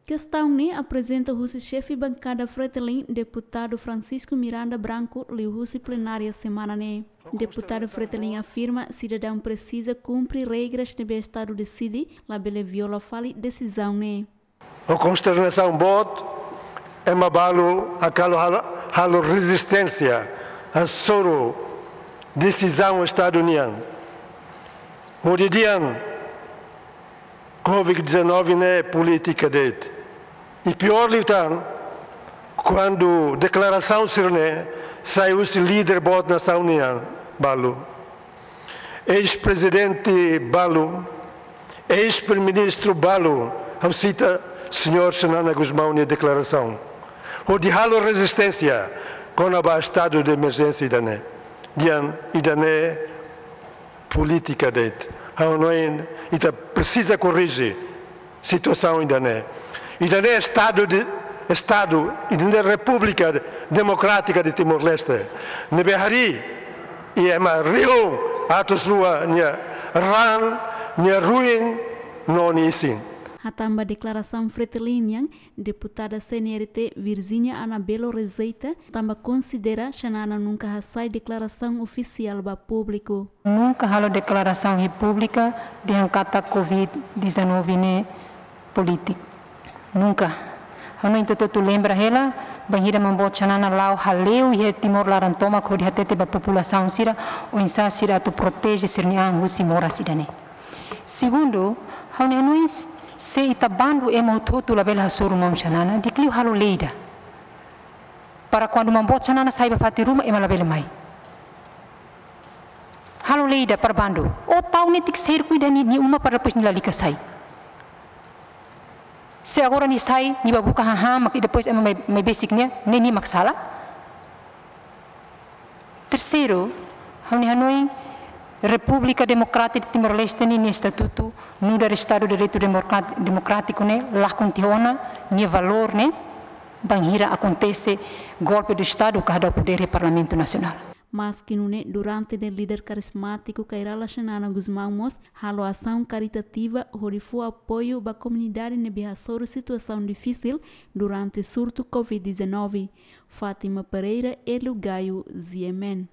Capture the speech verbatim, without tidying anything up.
Kestaun ne'e aprezenta husi xefe bankada Fretilin, deputadu Francisco Miranda Branco, liuhusi plenária semana ne'e. Deputadu Fretilin afirma sidadaun presiza kumpre regras ne'ebé Estadu deside, labele viola fali desizaun ne'e. Ho konsternasaun boot, ema balu hakarak halo, halo rezisténsia hasoru desizaun Estadu nian. Hodi dehan, covid dezanove ne'e polítika de'it. I piór liután, kuandu deklarasaun sira-ne'e sai husi líder boot nasaun nian balu. Eis-prezidente balu, eis-primeiru-ministru balu, ha'u sita señór Xanana Gusmão nia deklarasaun. Hodi halo rezisténsia kona-ba estadu de emerjénsia ida-ne'e. Dehan ida-ne'e polítika de'it. Ha'u hanoin ita presiza korrije situasaun ida-ne'e. Ida-ne'e estadu de, estadu, ida-ne'e Repúblika Demokrátika de Timor-Leste. Ne'ebé harii, i ema rihun atus rua nia raan, nia ruin, no nia isin. Hatán ba deklarasaun Fretilin nian, deputada C N R T Virginia Anabelo rejeita, tanba konsidera Xanana nunka hasai deklarasaun ofisiál ba públiku. Nunka halo deklarasaun iha públiku dehan katak covid dezanove ne'e polítika. Nunka. Ha'u hanoin ita hotu lembra hela, bainhira Maun Boot Xanana la'o hale'u iha Timor laran tomak hodi hatete ba populasaun sira, oinsá sira atu proteje sira-nia an husi moras ida-ne'e. Segundu, ha'u-nia hanoin, se ita bandu ema hotu-hotu labele hasoru Maun Xanana, di'ak liu halo lei ida. Para kuandu Maun Boot Xanana sai ba fatin ruma, ema labele mai. Halo lei ida para bandu. Ó tau netik serku ida nia, nia uma para depois nia lalika sai. Se agora nia sai, nia bá buka hahán, mak i depois ema mai, mai besik nia, ne'e nia mak sala. Terseiru, ha'u-nia hanoin, Repúblika Demokrátika de Timor-Leste nian, nia estatutu, nu'udar Estadu Direitu Demokrat-, Demokrátiku ne'e, lakon tiha ona nia valór ne'e, bainhira akontese golpe de Estadu ka hadau podér iha Parlamentu Nasionál. Maski nune'e, durante ne'e líder karizmátiku Kay Rala Xanana Gusmão mós halo asaun karitativa hodi fó apoiu ba komunidade ne'ebé hasoru situasaun difisil durante surtu covid dezanove. Fátima Pereira, Hélio Gaio, G M N.